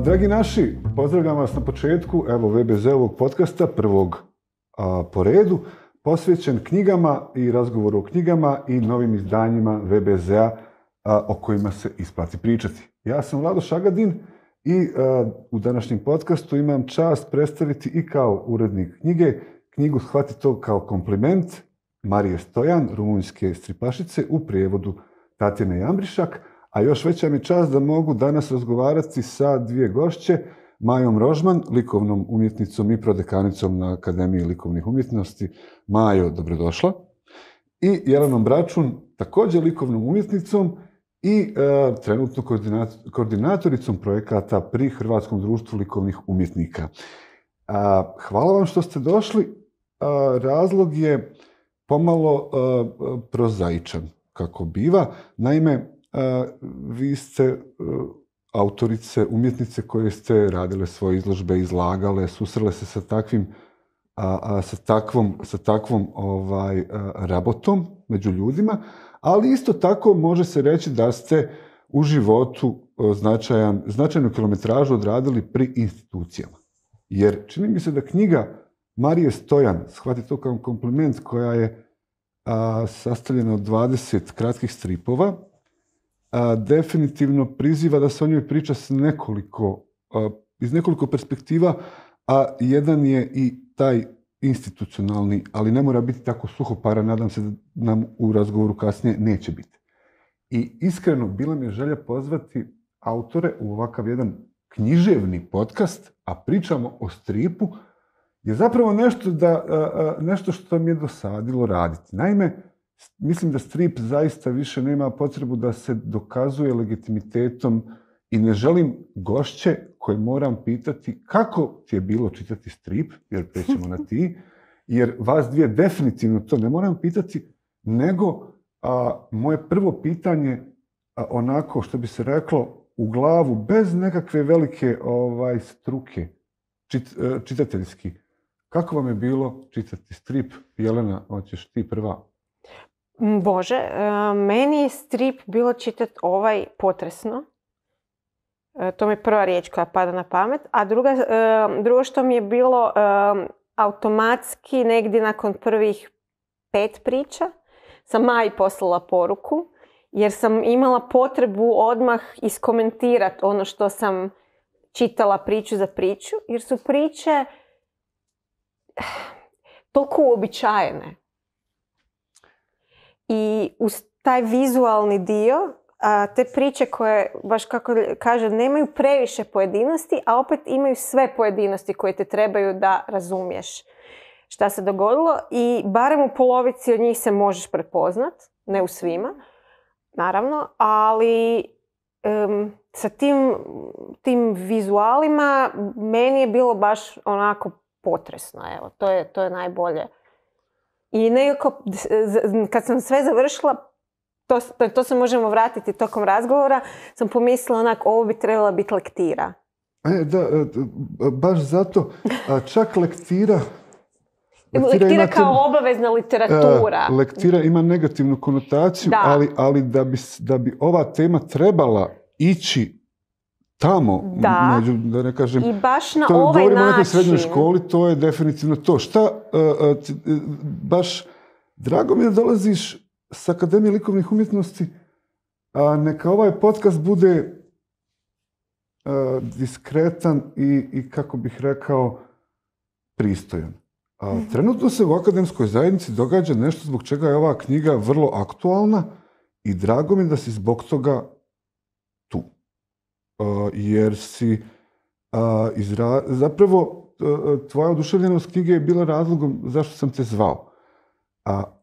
Dragi naši, pozdravljam vas na početku VBZ-ovog podcasta, prvog po redu, posvećen knjigama i razgovoru o knjigama i novim izdanjima VBZ-a o kojima se isplati pričati. Ja sam Vlado Šagadin i u današnjem podcastu imam čast predstaviti i kao urednik knjige knjigu Shvati to kao kompliment Marije Stojan, rumunjske stripašice, u prijevodu Tatjane Jambrišak. A još veća mi čast da mogu danas razgovarati sa dvije gošće, Majom Rožman, likovnom umjetnicom i prodekanicom na Akademiji likovnih umjetnosti. Majo, dobrodošla. I Jelenom Bračun, također likovnom umjetnicom i trenutno koordinatoricom projekata pri Hrvatskom društvu likovnih umjetnika. Hvala vam što ste došli. Razlog je pomalo prozaičan, kako biva. Naime, vi ste autorice, umjetnice koje ste radile svoje izložbe, izlagale, susrele se sa takvom rabotom među ljudima, ali isto tako može se reći da ste u životu značajnu kilometražu odradili pri institucijama. Jer čini mi se da knjiga Marije Stojan, Shvati to kao kompliment, koja je sastavljena od 20 kratkih stripova, definitivno priziva da se o njoj priča iz nekoliko perspektiva, a jedan je i taj institucionalni, ali ne mora biti tako suhoparan, nadam se da nam u razgovoru kasnije neće biti. I iskreno, bila mi je želja pozvati autore u ovakav jedan književni podcast, a pričamo o stripu, je zapravo nešto što mi je dosadilo raditi. Naime, mislim da strip zaista više nema potrebu da se dokazuje legitimitetom i ne želim gošće koje moram pitati kako ti je bilo čitati strip, jer prećemo na ti, jer vas dvije definitivno to ne moram pitati, nego moje prvo pitanje, onako što bi se reklo, u glavu, bez nekakve velike struke, čitateljski. Kako vam je bilo čitati strip? Jelena, hoćeš ti prva? Bože, meni je strip bilo čitati potresno. To mi je prva riječ koja pada na pamet. A drugo što mi je bilo automatski, negdje nakon prvih 5 priča, sam Maji poslala poruku, jer sam imala potrebu odmah iskomentirati ono što sam čitala priču za priču, jer su priče toliko uobičajene. I uz taj vizualni dio, te priče koje, baš kako kaže, nemaju previše pojedinosti, a opet imaju sve pojedinosti koje te trebaju da razumiješ šta se dogodilo, i barem u polovici od njih se možeš prepoznat, ne u svima, naravno, ali sa tim vizualima meni je bilo baš onako potresno, evo, to je najbolje. I nekako, kad sam sve završila, to se možemo vratiti tokom razgovora, sam pomislila onako, ovo bi trebala biti lektira. Baš zato, čak lektira kao obavezna literatura. Lektira ima negativnu konotaciju, ali da bi ova tema trebala ići tamo, da ne kažem, i baš na ovaj način. Govorimo o nekoj srednjoj školi, to je definitivno to. Baš drago mi je da dolaziš s Akademije likovnih umjetnosti, neka ovaj podcast bude diskretan i kako bih rekao, pristojan. Trenutno se u akademskoj zajednici događa nešto zbog čega je ova knjiga vrlo aktualna i drago mi je da si zbog toga tu. Jer si zapravo tvoja oduševljenost knjige je bila razlogom zašto sam te zvao.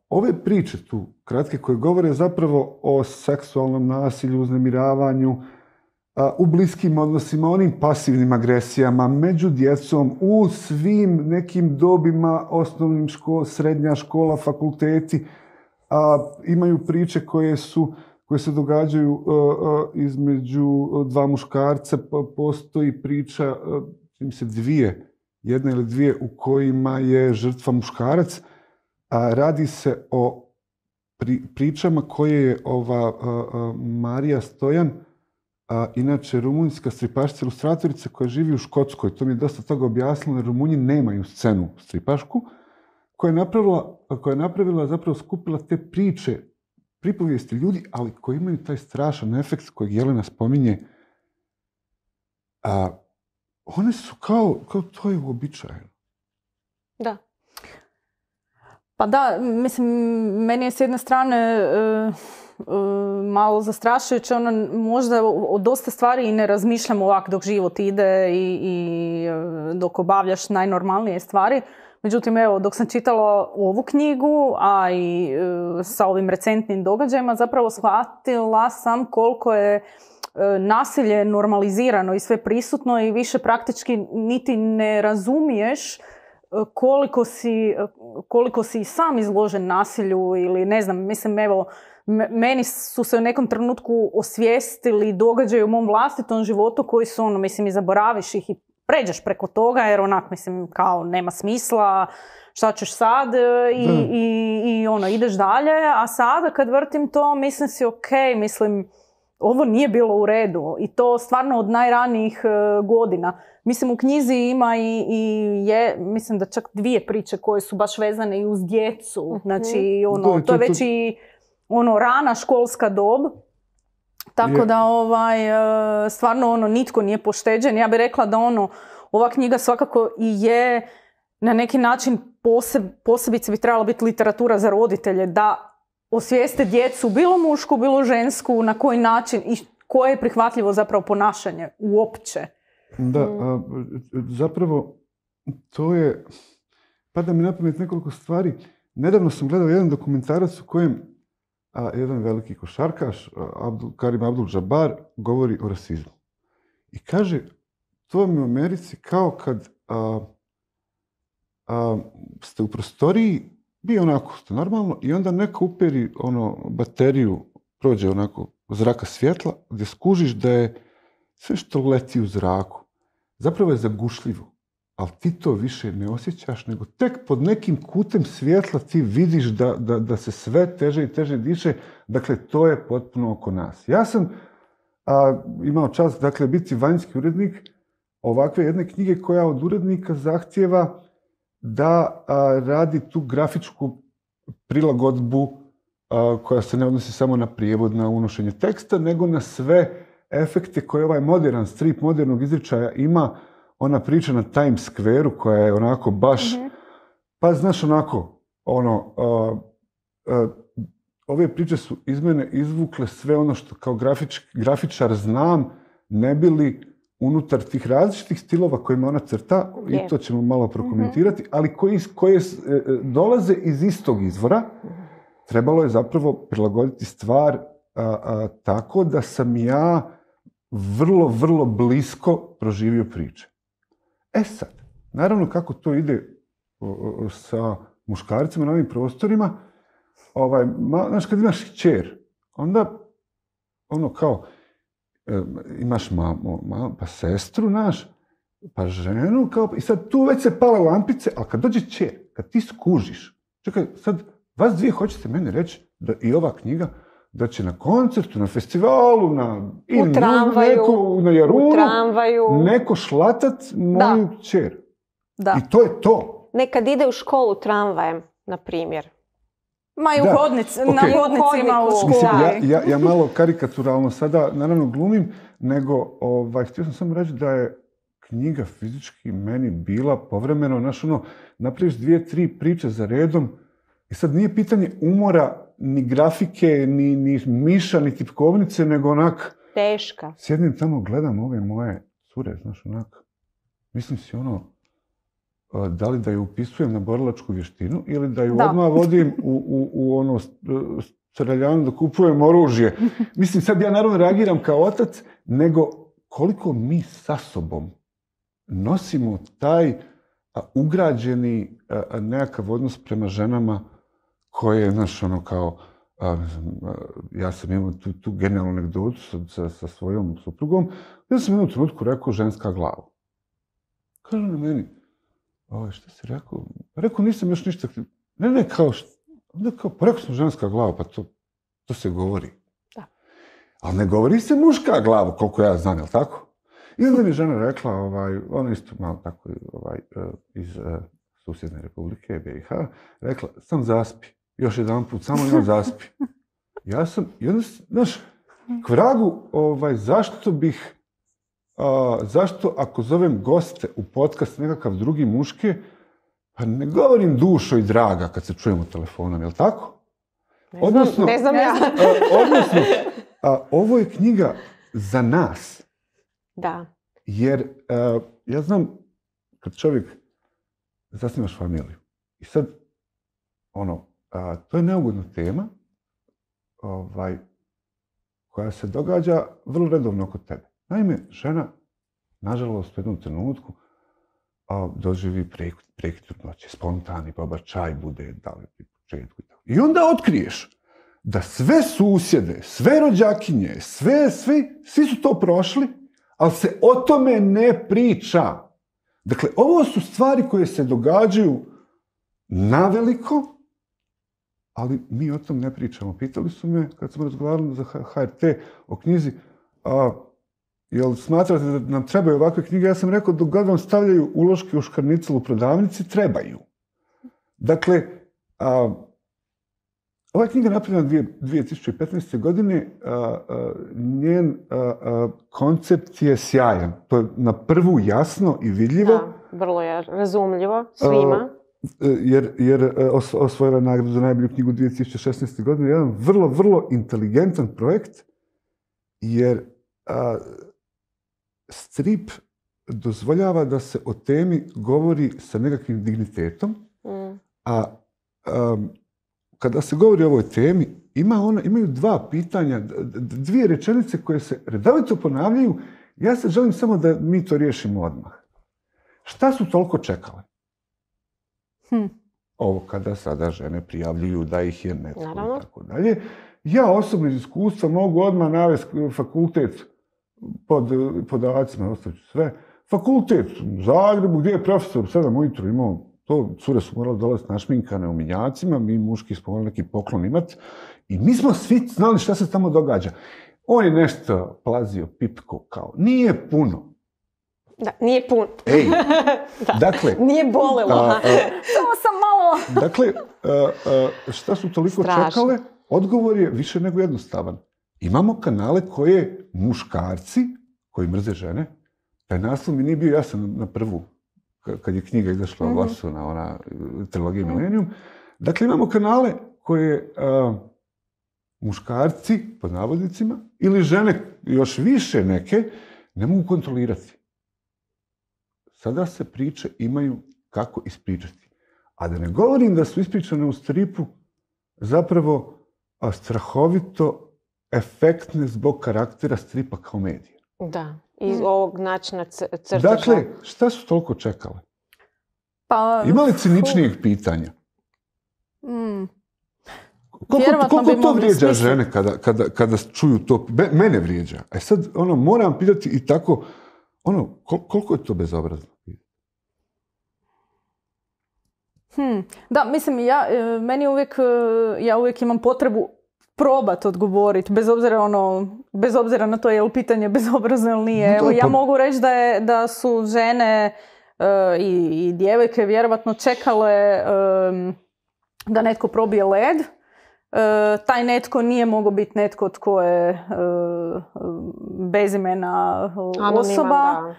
Ove priče tu, kratke, koje govore zapravo o seksualnom nasilju, uznemiravanju, u bliskim odnosima, onim pasivnim agresijama, među djecom, u svim nekim dobima, osnovnim srednja škola, fakulteti, imaju priče koje se događaju između dva muškarca. Postoji priča, čini se jedna ili dvije, u kojima je žrtva muškarac. Radi se o pričama koje je ova Marija Stojan inače rumunjska stripašica, ilustratorica koja živi u Škotskoj. To mi je dosta toga objasnilo, jer Rumunji nemaju scenu stripašku, koja je napravila, zapravo skupila te priče, pripovijesti ljudi, ali koji imaju taj strašan efekt kojeg Jelena spominje. One su kao to je uobičajeno. Da. Pa da, mislim, meni je s jedne strane malo zastrašujuće, možda o dosta stvari i ne razmišljam ovak dok život ide i dok obavljaš najnormalnije stvari. Međutim, evo, dok sam čitala ovu knjigu, a i sa ovim recentnim događajima, zapravo shvatila sam koliko je nasilje normalizirano i sve prisutno i više praktički niti ne razumiješ koliko si sam izložen nasilju ili ne znam, mislim, evo, meni su se u nekom trenutku osvijestili događaji u mom vlastitom životu koji su, mislim, i zaboraviš ih i pređeš preko toga jer onak, mislim, kao nema smisla, šta ćeš sad i ideš dalje, a sada kad vrtim to, mislim si mislim, ovo nije bilo u redu i to stvarno od najranijih godina. Mislim, u knjizi ima mislim da čak 2 priče koje su baš vezane i uz djecu. Znači, to je već i rana školska dob. Tako da stvarno nitko nije pošteđen. Ja bih rekla da ova knjiga svakako i je na neki način posebice bi trebala biti literatura za roditelje, da osvijeste djecu, bilo mušku, bilo žensku, na koji način i koje je prihvatljivo zapravo ponašanje uopće. Da, zapravo to je, pada mi na pamet nekoliko stvari. Nedavno sam gledao jedan dokumentarac u kojem jedan veliki košarkaš, Karim Abdul-Jabbar, govori o rasizmu. I kaže, to vam je u Americi kao kad ste u prostoriji, bi onako ste normalno, i onda neko uperi bateriju, prođe onako zraka svjetla, gdje skužiš da je sve što leti u zraku zapravo je zagušljivo, ali ti to više ne osjećaš, nego tek pod nekim kutem svjetla ti vidiš da se sve teže i teže diše. Dakle, to je potpuno oko nas. Ja sam imao čast, dakle, biti vanjski urednik ovakve jedne knjige koja od urednika zahtijeva da radi tu grafičku prilagodbu koja se ne odnosi samo na prijevod, na unošenje teksta, nego na sve efekte koje ovaj modern strip modernog izričaja ima. Ona priča na Times Square-u koja je onako baš, pa znaš onako, ove priče su iz mene izvukle sve ono što kao grafičar znam, ne bili unutar tih različitih stilova kojima ona crta, i to ćemo malo prokomentirati, ali koje dolaze iz istog izvora, trebalo je zapravo prilagoditi stvar tako da sam ja vrlo, vrlo blisko proživio priče. Sad, naravno kako to ide sa muškarcima na ovim prostorima, znaš, kad imaš kćer, onda kao imaš pa sestru, pa ženu, i sad tu već se pale lampice, ali kad dođe kćer, kad ti skužiš, čekaj, sad vas dvije hoćete meni reći da i ova knjiga da će na koncertu, na festivalu, u tramvaju, na Jarunu, neko šlatat moju kćer. I to je to. Nekad ide u školu tramvajem, na primjer. Ma i na hodnicima u školi. Ja malo karikaturalno sada, naravno, glumim, nego htio sam samo reći da je knjiga fizički meni bila povremeno, napraviš 2-3 priče za redom i sad nije pitanje umora, ni grafike, ni miša, ni tipkovnice, nego onak... Teška. Sjedim tamo, gledam ove moje cure, znaš, onak... Mislim si da li da ju upisujem na borilačku vještinu ili da ju odmah vodim u streljanu da kupujem oružje. Mislim, sad ja naravno reagiram kao otac, nego koliko mi sa sobom nosimo taj ugrađeni nekakav odnos prema ženama koje, znaš, kao, ja sam imao tu genijalnu anegdotu sa svojom suprugom, ja sam jednom trenutku rekao ženska glava. Kaže na meni, šta si rekao? Rekao, nisam još ništa... Ne, kao, pa rekao sam ženska glava, pa to se govori. Da. Ali ne govori se muška glava, koliko ja znam, jel tako? I onda mi je žena rekla, ona isto malo tako iz susjedne republike, BiH, rekla, sam zaspi, još jedan put, samo jedan zaspi. Ja sam, i onda, znaš, k vragu, zašto ako zovem goste u podcast nekakav drugi muške, pa ne govorim dušo i draga kad se čujemo telefonom, jel tako? Ne znam ja. Odnosno, ovo je knjiga za nas. Da. Jer ja znam kad čovjek zasnivaš familiju i sad to je neugodna tema koja se događa vrlo redovno kod tebe. Naime, žena, nažalost, u jednom trenutku doživi prekid trudnoće, spontani pobačaj bude daleki u početku. I onda otkriješ da sve susjede, sve rođakinje, svi su to prošli, ali se o tome ne priča. Dakle, ovo su stvari koje se događaju naveliko, ali mi o tom ne pričamo. Pitali su me, kad smo razgovarali za HRT o knjizi, jel smatrate da nam trebaju ovakve knjige? Ja sam rekao, dok god vam stavljaju uloške u škarnicelu u prodavnici, trebaju. Dakle, ova je knjiga napravljena 2015. godine, njen koncept je sjajan. To je na prvu jasno i vidljivo. Da, vrlo je razumljivo svima. Jer osvojila nagradu za najbolju knjigu 2016. godine. Jedan vrlo, vrlo inteligentan projekt, jer strip dozvoljava da se o temi govori sa nekakvim dignitetom, a kada se govori o ovoj temi, imaju dva pitanja, dvije rečenice koje se redovito ponavljaju. Ja se želim samo da mi to riješimo odmah. Šta su toliko čekale? Ovo kada sada žene prijavljuju da ih je netko i tako dalje. Ja osobno iz iskustva mogu odmah navesti fakultet pod podacima, ostavit ću sve. Fakultet u Zagrebu, gdje je profesor u 7 ujutru imao to, cure su morali dolaziti našminkane u minjacima, mi muški smo morali neki poklon imati i mi smo svi znali šta se tamo događa. On je nešto plazio pipko kao, nije puno. Da, nije puno. Ej, dakle... Nije bolelo. Samo sam malo... Dakle, šta su toliko čekale? Odgovor je više nego jednostavan. Imamo kanale koje muškarci, koji mrze žene, taj naslov mi nije bio jasan na prvu, kad je knjiga izašla u glasu na ona trilogija Millennium. Dakle, imamo kanale koje muškarci, pod navodnicima, ili žene, još više neke, ne mogu kontrolirati. Sada se priče imaju kako ispričati. A da ne govorim da su ispričane u stripu zapravo strahovito efektne zbog karaktera stripa kao medija. Da, iz ovog načina crteža. Dakle, šta su toliko čekale? Ima li ciničnijeg pitanja? Koliko to vrijeđa žene kada čuju to? Mene vrijeđa. A sad moram pitati i tako, koliko je to bezobrazno? Da, mislim, ja uvijek imam potrebu probati odgovoriti, bez obzira na to je li pitanje bezobrazno ili nije. Evo, ja mogu reći da su žene i djevojke vjerovatno čekale da netko probije led. Taj netko nije mogao biti netko tko je bezimena osoba,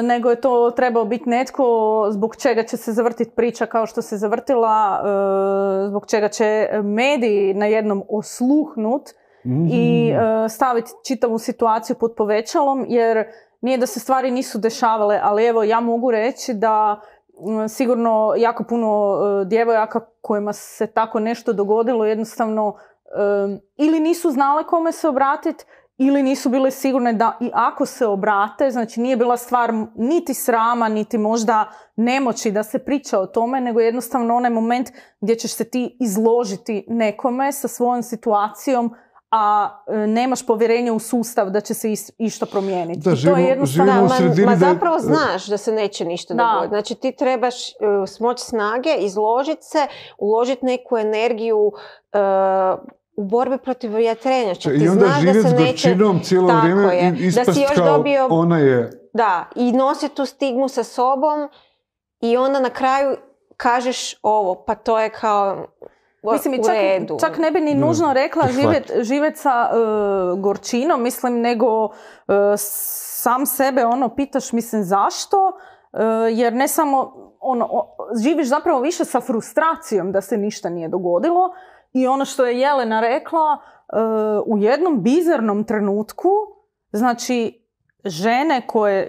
nego je to trebao biti netko zbog čega će se zavrtiti priča kao što se zavrtila, zbog čega će mediji na jednom osluhnut i staviti čitavu situaciju pod povećalom, jer nije da se stvari nisu dešavale, ali evo ja mogu reći da sigurno jako puno djevojaka kojima se tako nešto dogodilo jednostavno ili nisu znale kome se obratiti, ili nisu bile sigurne da i ako se obrate, znači nije bila stvar niti srama, niti možda nemoći da se priča o tome, nego jednostavno onaj moment gdje ćeš se ti izložiti nekome sa svojom situacijom, a nemaš povjerenje u sustav da će se išta promijeniti. Da, zapravo znaš da se neće ništa dogoditi. Znači ti trebaš smoći snage, izložiti se, uložiti neku energiju u borbi protiv vjetrenjača. I onda živjeti s gorčinom cijelo vrijeme i ispast kao ona je... Da, i nosi tu stigmu sa sobom i onda na kraju kažeš ovo, pa to je kao mislim, u redu. Čak ne bi ni nužno rekla živjet sa gorčinom, mislim, nego sam sebe pitaš, mislim, zašto? Jer ne samo, živiš zapravo više sa frustracijom da se ništa nije dogodilo. I ono što je Jelena rekla, u jednom bizarnom trenutku, znači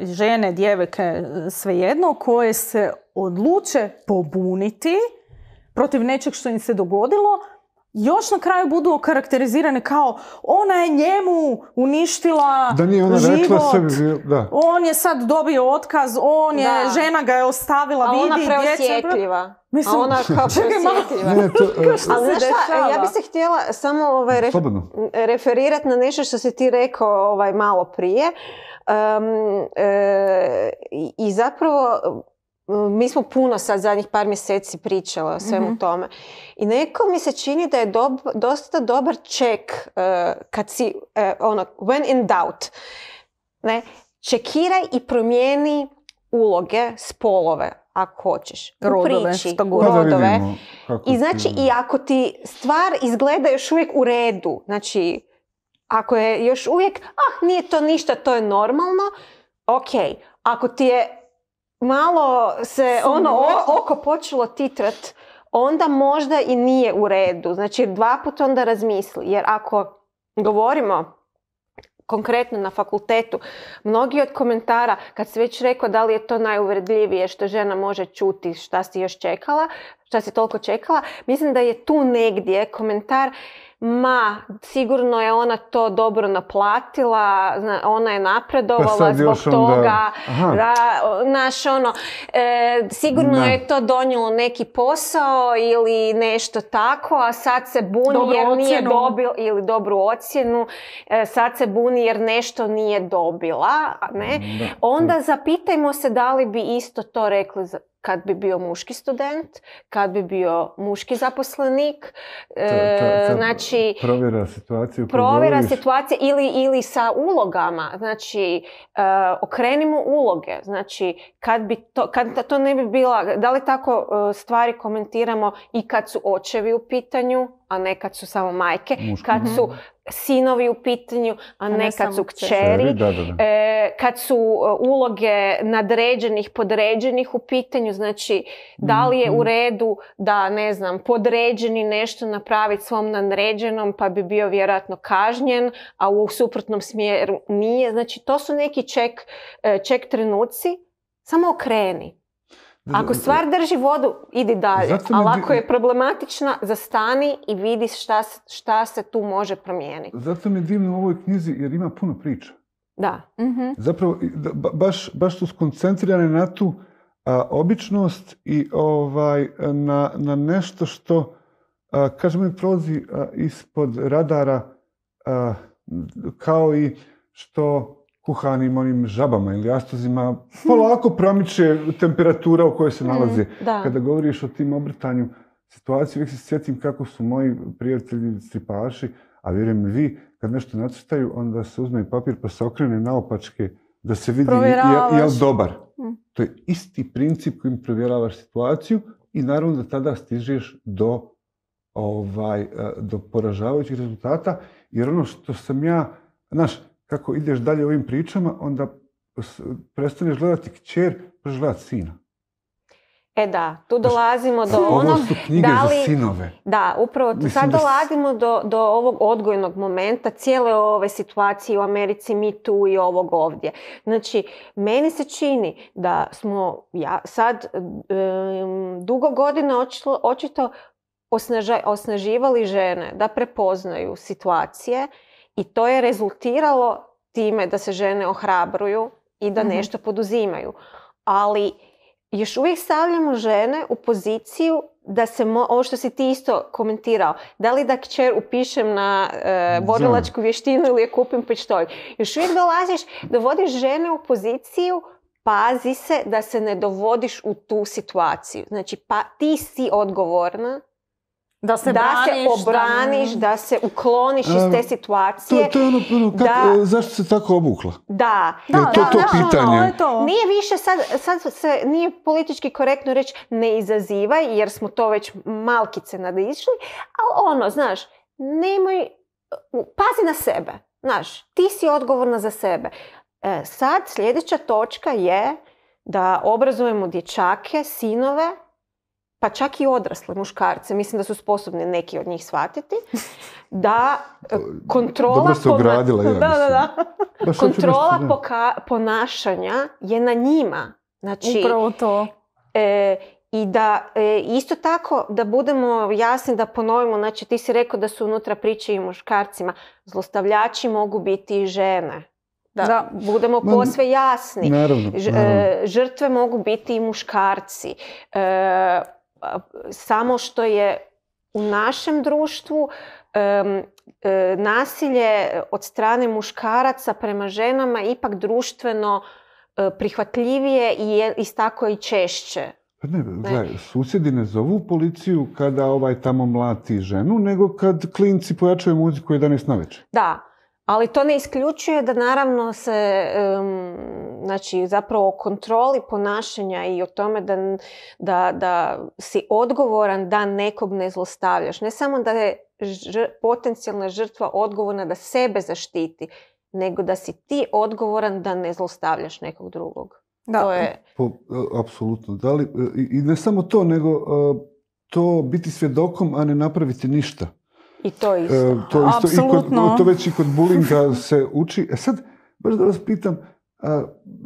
žene, djevojke, svejedno, koje se odluče pobuniti protiv nečeg što im se dogodilo, još na kraju budu okarakterizirane kao ona je njemu uništila da nije ona život, rekla sebi, da. On je sad dobio otkaz, žena ga je ostavila, a vidi, ona preosjetljiva. Mislim, a ona kao preosjetljiva. Ali znaš šta, ja bi se htjela samo referirati na nešto što si ti rekao malo prije. I zapravo mi smo puno sad zadnjih par mjeseci pričali o svemu tome. I neko mi se čini da je dosta dobar ček kad si, when in doubt. Ne? Čekiraj i promijeni uloge, spolove, ako hoćeš. U priči, rodove. I znači, i ako ti stvar izgleda još uvijek u redu, znači, ako je još uvijek, nije to ništa, to je normalno, ok. Ako ti je malo se oko počelo titrat, onda možda i nije u redu. Znači, 2 puta onda razmisli. Jer ako govorimo konkretno na fakultetu, mnogi od komentara, kad si već rekao da li je to najuvredljivije što žena može čuti, šta si još čekala, šta si toliko čekala, mislim da je tu negdje komentar sigurno je ona to dobro naplatila, ona je napredovala zbog toga, sigurno je to donijelo neki posao ili nešto tako, a sad se buni jer nije dobila, ili dobru ocjenu, sad se buni jer nešto nije dobila, ne? Onda zapitajmo se da li bi isto to rekli kad bi bio muški student, kad bi bio muški zaposlenik, znači provjera situacije ili sa ulogama, znači okrenimo uloge, znači kad to ne bi bila, da li tako stvari komentiramo i kad su očevi u pitanju, a ne kad su samo majke, kad su sinovi u pitanju, a ne kad su kćeri, kad su uloge nadređenih, podređenih u pitanju, znači da li je u redu da, ne znam, podređeni nešto napraviti svom nadređenom pa bi bio vjerojatno kažnjen, a u suprotnom smjeru nije. Znači to su neki ček trenuci, samo okreni. Ako stvar drži vodu, idi dalje. Ali ako je problematična, zastani i vidi šta se tu može promijeniti. Zato mi je divno u ovoj knjizi jer ima puno priča. Da. Zapravo, baš su skoncentrirane na tu običnost i na nešto što, kažemo, mi prolazi ispod radara, kao i što kuhanim onim žabama ili jastozima polako promiče temperatura u kojoj se nalaze. Kada govoriš o tim obrtanju situacije, uvijek se sjetim kako su moji prijatelji stripaši, a vjerujem i vi, kad nešto nacrtaju, onda se uzme papir pa se okrene naopačke da se vidi je li dobar. To je isti princip kojim provjeravaš situaciju i naravno da tada stižeš do poražavajućih rezultata, jer ono što sam ja, znaš, kako ideš dalje ovim pričama, onda prestaneš gledati kćer, počneš gledati sina. Da, tu dolazimo do onog... Ovo su knjige za sinove. Da, upravo tu sad dolazimo do ovog odgojnog momenta, cijele ove situacije u Americi, Me Too i ovog ovdje. Znači, meni se čini da smo sad dugo godina očito osnaživali žene da prepoznaju situacije i to je rezultiralo time da se žene ohrabruju i da nešto poduzimaju. Ali još uvijek stavljamo žene u poziciju da se, ovo što si ti isto komentirao, da li da kćer upišem na borilačku vještinu ili je kupim pištolj. Još uvijek dovodiš žene u poziciju, pazi se da se ne dovodiš u tu situaciju. Znači, ti si odgovorna Da se obraniš, da se ukloniš iz te situacije. To je zašto se tako obukla? Da. To pitanje. Nije više sad se nije politički korektno reći ne izazivaj, jer smo to već malkice nadišli, ali znaš, nemoj, pazi na sebe. Znaš, ti si odgovorna za sebe. Sad sljedeća točka je da obrazujemo dječake, sinove, pa čak i odrasle muškarce, mislim da su sposobni neki od njih shvatiti, da kontrola, kontrola ponašanja je na njima. Znači, upravo to. I da isto tako da budemo jasni, da ponovimo, znači ti si rekao da su unutra priče i muškarcima, zlostavljači mogu biti i žene. Da budemo posve jasni. Naravno. Žrtve mogu biti i muškarci. Samo što je u našem društvu nasilje od strane muškaraca prema ženama ipak društveno prihvatljivije i tako i češće. Ne, gledaj, susjedi ne zovu policiju kada tamo mlati ženu, nego kad klinci pojačaju muziku 11 navečer. Da, ali to ne isključuje da naravno se, znači zapravo o kontroli ponašanja i o tome da si odgovoran da nekog ne zlostavljaš. Ne samo da je potencijalna žrtva odgovorna da sebe zaštiti, nego da si ti odgovoran da ne zlostavljaš nekog drugog. Da. To je... Apsolutno. I ne samo to, nego to biti svjedokom, a ne napraviti ništa. I to isto. To već i kod bulinga se uči. Sad, baš da vas pitam,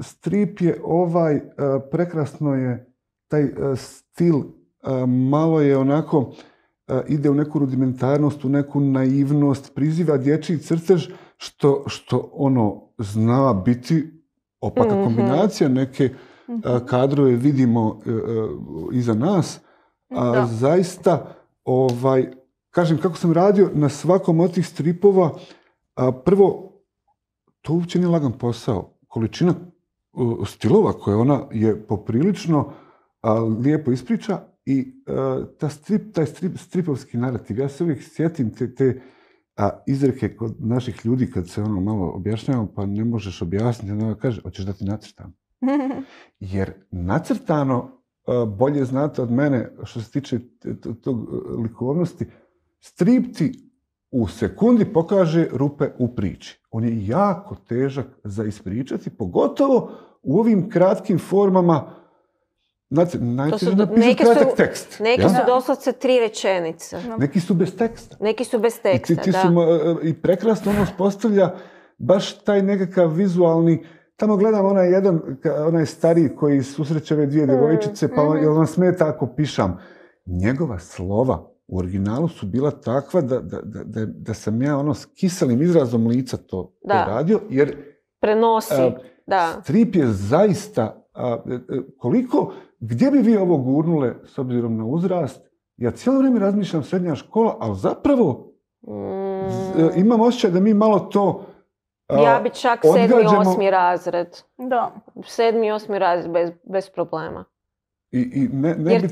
strip je prekrasno je taj stil, malo je onako, ide u neku rudimentarnost, u neku naivnost, priziva dječji crtež, što zna biti opaka kombinacija, neke kadrove vidimo iza nas, a zaista, kažem, kako sam radio na svakom od tih stripova, prvo, to uopće nije lagan posao. Količina stilova koje ona je poprilično lijepo ispriča i taj stripovski narativ, ja se uvijek sjetim te izreke kod naših ljudi kad se malo objašnjavamo, pa ne možeš objasniti, onda kaže, hoćeš da ti nacrtam. Jer nacrtano bolje znate od mene što se tiče tog likovnosti, strip ti u sekundi pokaže rupe u priči. On je jako težak za ispričati, pogotovo u ovim kratkim formama. Znate, najteže napisati kratak tekst. Neki su doslovce 3 rečenice. Neki su bez teksta. Neki su bez teksta, I prekrasno postavlja baš taj nekakav vizualni. Tamo gledam onaj stariji koji susreće ove 2 djevojčice, pa jel vam smeta ako pišam. Njegova slova u originalu su bila takva da sam ja s kiselim izrazom lica to radio, jer prenosi. Strip je zaista gdje bi vi ovo gurnule s obzirom na uzrast? Ja cijelo vrijeme razmišljam srednja škola, ali zapravo imam osjećaj da mi malo to ja bi čak 7. i 8. razred. Da. 7. i 8. razred bez problema. Jer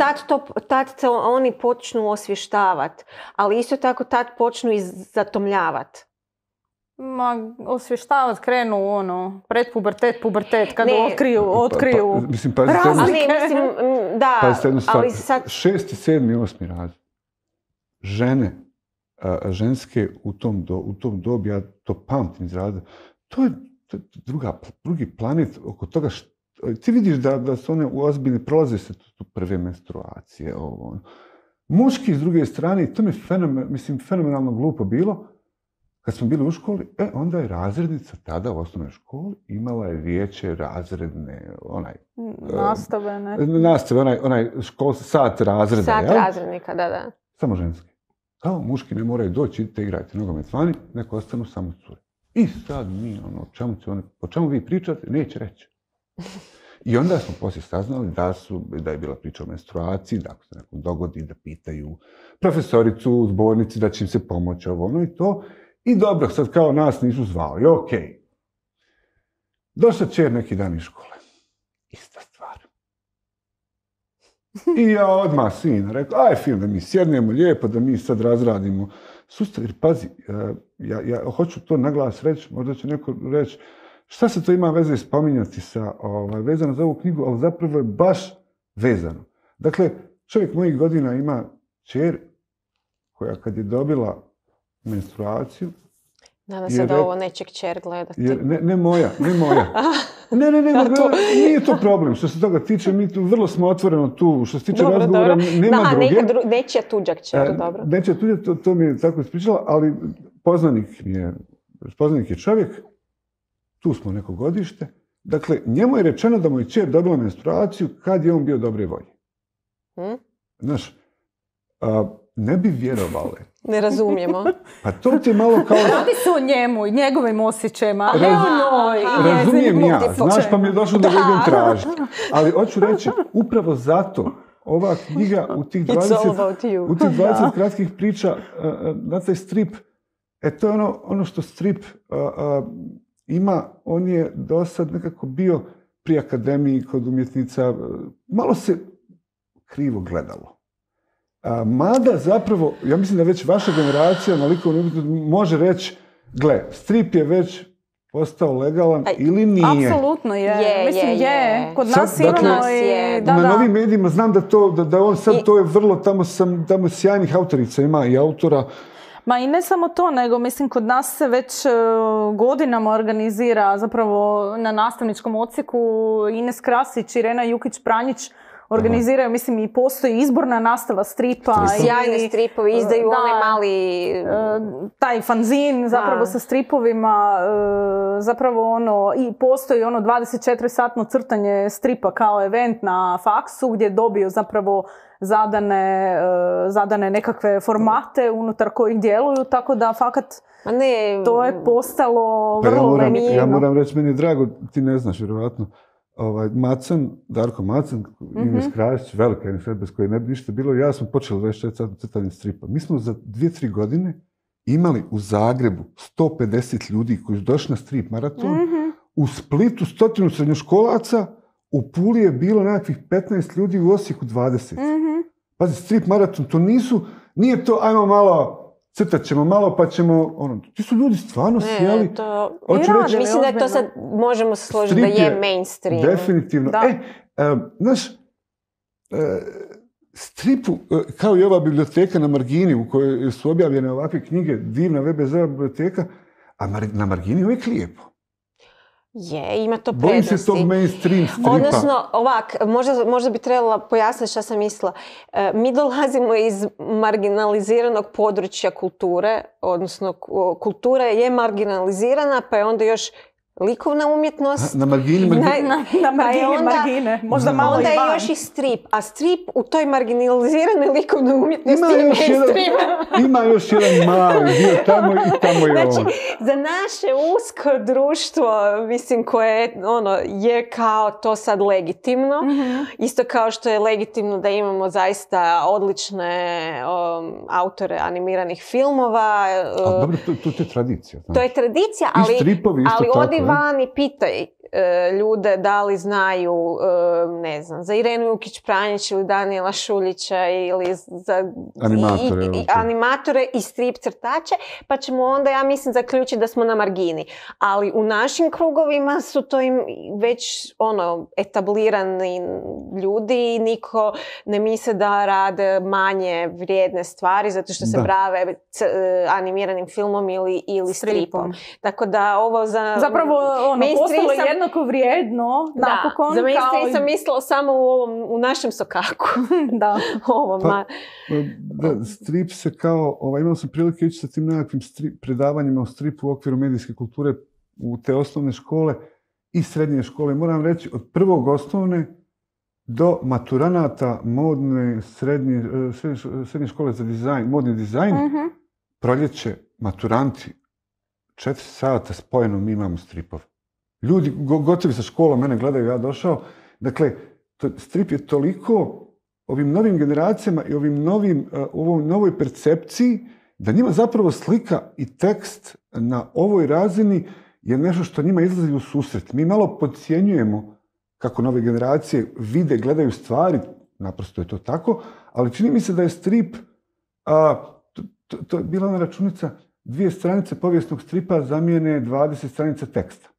tad se oni počnu osvještavati, ali isto tako tad počnu i zatomljavati. Osvještavati krenu pubertet, kada otkriju razlike. Ali sad... 6. i 7. i 8. razred. Žene, ženske u tom dobi, ja to pamtim iz razreda, to je drugi planet oko toga ti vidiš da su one ozbiljne, prolaze se tu prve menstruacije. Muški s druge strane, to mi je fenomenalno glupo bilo, kad smo bili u školi, onda je razrednica tada u osnovnoj školi imala je vijeće razredne, nastave, sat razreda. Sat razrednika, da. Samo ženski. Kao muški ne moraju doći, idite igrajte nogomet vani, neko ostanu samo cure. I sad mi, o čemu vi pričate, neće reći. I onda smo poslije saznali da je bila priča o menstruaciji, da ako se nekom dogodi da pitaju profesoricu u zbornici da će im se pomoći i to. I dobro, sad kao nas nisu zvali, okej. Došla čer neki dan iz škole. Ista stvar. I ja odmah sina rekao, aj film da mi sjednemo lijepo, da mi sad razradimo sustav. Jer pazi, ja hoću to naglas reći, možda će neko reći, šta se to ima veze spominjati sa, vezano za ovu knjigu, ali zapravo je baš vezano. Dakle, čovjek mojih godina ima kćer koja kad je dobila menstruaciju, Nadam se da ovo neće kćer gledati. Ne moja. Ne, nije to problem. Što se toga tiče, mi tu vrlo smo otvoreno tu. Što se tiče razgovora, nema druge. Nečija tuđa kćer, dobro. Nečija tuđa, to mi je tako ispričala, ali poznanik je čovjek, tu smo neko godište. Dakle, njemu je rečeno da mu je kćer dobila menstruaciju kad je on bio dobre volje. Znaš, ne bi vjerovali. Ne razumijemo. Pa to ti je malo kao... Radi se o njemu i njegovim osjećajima. Razumijem ja, znaš, pa mi je došlo da ga idem tražiti. Ali hoću reći, upravo zato ova knjiga u tih 20 kratkih priča na taj strip, to je ono što strip ima, on je do sad nekako bio pri akademiji kod umjetnica, malo se krivo gledalo. Mada zapravo, ja mislim da već vaša generacija na likovnu umjetnost može reći, gle, strip je već postao legalan ili nije. Apsolutno je. Mislim je. Kod nas sad, imamo i... Na novim medijima znam da on sad, to je vrlo, tamo sjajnih autorica ima i autora. Ma i ne samo to, nego mislim kod nas se već godinama organizira zapravo na nastavničkom odsjeku Ines Krasić, Irena Jukić-Pranjić organiziraju, mislim, i postoji izborna nastava stripa. Sjajne stripovi, izdaju onaj mali... taj fanzin zapravo sa stripovima, zapravo i postoji 24-satno crtanje stripa kao event na faksu gdje dobiju zapravo zadane nekakve formate unutar kojih djeluju, tako da fakat to je postalo vrlo lenivno. Ja moram reći, meni je drago, ti ne znaš vjerovatno, Darko Macan, Ines Krasić, velika Ines bez koje ne bi ništa bilo, ja smo počeli 24 crtanje stripa. Mi smo za 2-3 godine imali u Zagrebu 150 ljudi koji su došli na strip maraton, u Splitu 100 srednjoškolaca, u Puli je bilo nekakvih 15 ljudi, u Osijeku 20. Pazi, strip maraton, to nije to, ajmo malo, crtat ćemo malo pa ćemo, ti su ljudi stvarno sjeli. Mislim da je to sad, možemo se složiti da je mainstream. Definitivno. Znaš, stripu, kao i ova biblioteka na Margini u kojoj su objavljene ovakve knjige, divna VBZ biblioteka, a na Margini je uvijek lijepo. Ima to prednosti. Bojim se tog mainstream stripa. Odnosno, možda bi trebala pojasniti šta sam mislila. Mi dolazimo iz marginaliziranog područja kulture, odnosno kultura je marginalizirana, pa je onda još likovna umjetnost. Na Margini. Na Margine. Možda malo onda je još i strip. A strip u toj marginaliziranoj likovnoj umjetnosti je mainstream. Ima još jedan mali dio tamo i tamo je on. Znači, za naše usko društvo, mislim, koje je kao to sad legitimno. Isto kao što je legitimno da imamo zaista odlične autore animiranih filmova. Dobro, to je tradicija. To je tradicija, ali odi van i pitaj ljude da li znaju, ne znam, za Irenu Jukić-Pranjić ili Danijela Šuljića ili za animatore i strip crtače, pa ćemo onda, ja mislim, zaključiti da smo na margini. Ali u našim krugovima su to već etablirani ljudi i niko ne misle da rade manje vrijedne stvari zato što se bave animiranim filmom ili stripom. Tako da ovo za... Zapravo postalo je jednako vrijedno, napokon. Za mainstream sam mislila samo u našem sokaku. Strip se kao, imao sam prilike ići sa tim nekakvim predavanjima o stripu u okviru medijske kulture u te osnovne škole i srednje škole. Moram reći, od prvog osnovne do maturanata modne srednje škole za dizajn, modni dizajn, proljeće, maturanti, 4 sata spojeno mi imamo stripove. Ljudi gotovi sa školom, mene gledaju, ja došao. Dakle, strip je toliko ovim novim generacijama i ovoj novoj percepciji da njima zapravo slika i tekst na ovoj razini je nešto što njima izlazi u susret. Mi malo podcjenjujemo kako nove generacije vide, gledaju stvari. naprosto je to tako, ali čini mi se da je strip, to je bila ona računica, 2 stranice povijesnog stripa zamijene 20 stranica teksta.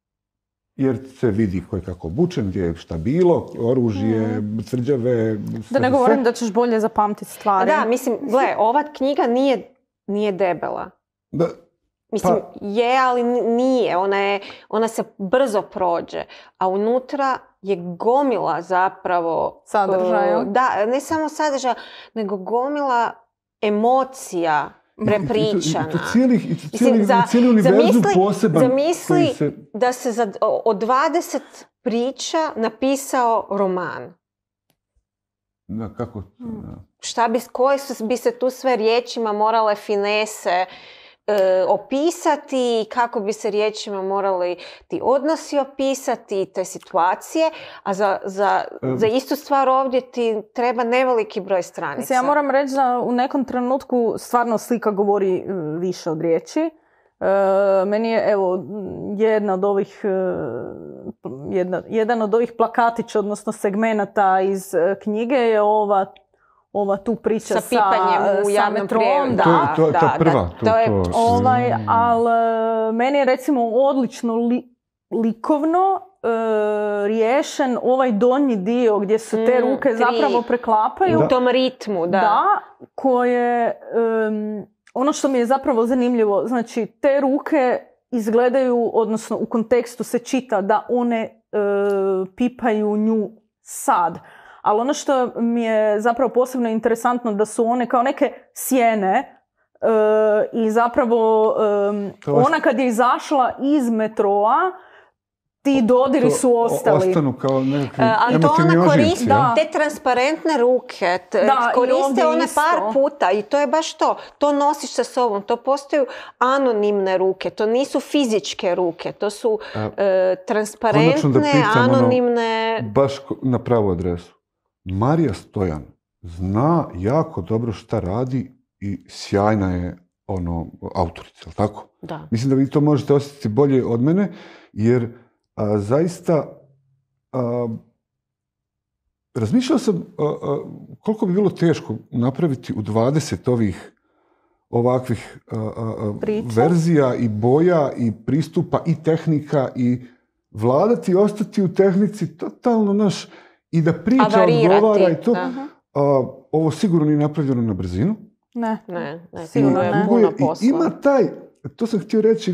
Jer se vidi ko je kako obučen, gdje je šta bilo, oružje, tvrđave, Da ne govorim da ćeš bolje zapamtiti stvari. Da, mislim, gle, ova knjiga nije debela. Da. Mislim, je, ali nije. Ona se brzo prođe. A unutra je gomila zapravo... Sadržaja. Da, ne samo sadržaja, nego gomila emocija prepričana. I to cijeli univerzum poseban. Zamisli da se od 20 priča napisao roman. Da, kako? Da. Koje bi se tu sve riječima morale finese opisati, kako bi se riječima morali ti odnosi opisati, te situacije, a za istu stvar ovdje ti treba neveliki broj stranica. Ja moram reći da u nekom trenutku stvarno slika govori više od riječi. Meni je, evo, jedan od ovih plakatića, odnosno segmenata iz knjige je ova tu priča sa pipanjem u javnom prijevodu. To je prva. Ali meni je recimo odlično likovno riješen ovaj donji dio gdje se te ruke zapravo preklapaju. U tom ritmu, da. Da, koje... ono što mi je zapravo zanimljivo, znači te ruke izgledaju, odnosno u kontekstu se čita da one pipaju nju sad. Ali ono što mi je zapravo posebno interesantno da su one kao neke sjene i zapravo ona kad je izašla iz metroa, ti dodiri su ostali. Ostanu kao nekakvi ali to ona koristi, te transparentne ruke, koriste one par puta i to je baš to. To nosiš sa sobom, to postaju anonimne ruke, to nisu fizičke ruke, to su transparentne, anonimne... Baš na pravu adresu. Marija Stojan zna jako dobro šta radi i sjajna je autorica, jel tako? Da. Mislim da vi to možete osjetiti bolje od mene, jer zaista razmišljao sam koliko bi bilo teško napraviti u 20 ovakvih verzija i boja i pristupa i tehnika i vladati i ostati u tehnici totalno i da priča odgovara i to. Ovo sigurno nije napravljeno na brzinu. Ne, sigurno je puno posla. Ima to sam htio reći,